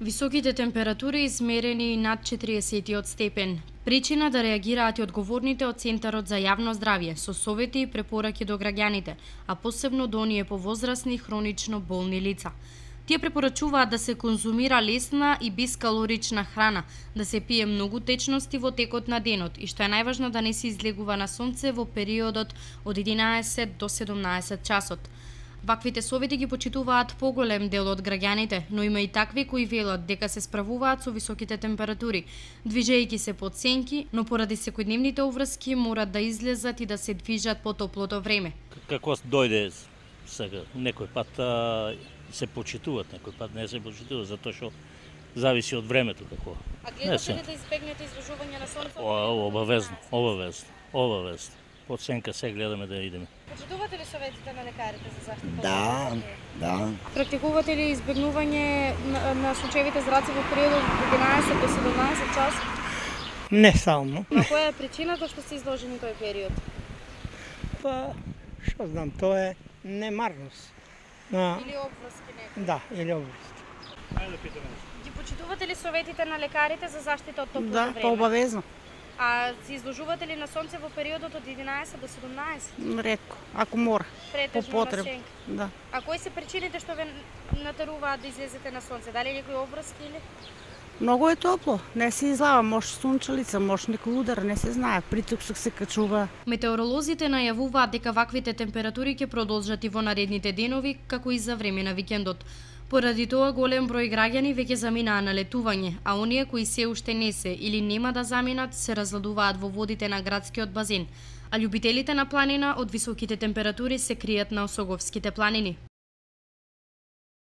Високите температури измерени над 40 степен. Причина да реагираат и одговорните од Центарот за јавно здравје со совети и препораки до граѓаните, а посебно до оние повозрасни хронично болни лица. Тие препорачуваат да се конзумира лесна и бескалорична храна, да се пие многу течности во текот на денот и што е најважно да не се излегува на сонце во периодот од 11 до 17 часот. Ваквите совети ги почитуваат поголем дел од граѓаните, но има и такви кои велат дека се справуваат со високите температури, движејќи се под сенки, но поради секојдневните уврски морат да излезат и да се движат по топлото време. Како дојде сега, некој пат се почитуваат, некој пат не се почитуваат, затоа што зависи од времето какво. А гледате ли да избегнете изложување на сонце? Обавезно. Под сенка се гледаме да идеме. Почитувате ли советите на лекарите за заштита? Да. Практикувате ли избегнување на сончевите зраци во периодот од 11 до 17 часот? Не само. На која е причината што сте изложени тој период? Па, што знам, тоа е немарност. Или обврски некој? Да, или обврски. Ги почитувате ли советите на лекарите за заштита од топлото Да, време? па обавезно. А се изложувате ли на сонце во периодот од 11 до 17? Ретко, ако мора. Претежно По потреб. на сенка. Да. А кои се причините што ве натеруваат да излезете на сонце? Дали некои обврски или? Многу е топло, не се излава, може сунчалица, може некој удар, не се знае, притисок се качува. Метеоролозите најавуваат дека ваквите температури ќе продолжат и во наредните денови, како и за време на викендот. Поради тоа голем број граѓани веќе заминаа на летување, а оние кои се уште не се или нема да заминат се разладуваат во водите на градскиот базен, а љубителите на планина од високите температури се кријат на Осоговските планини.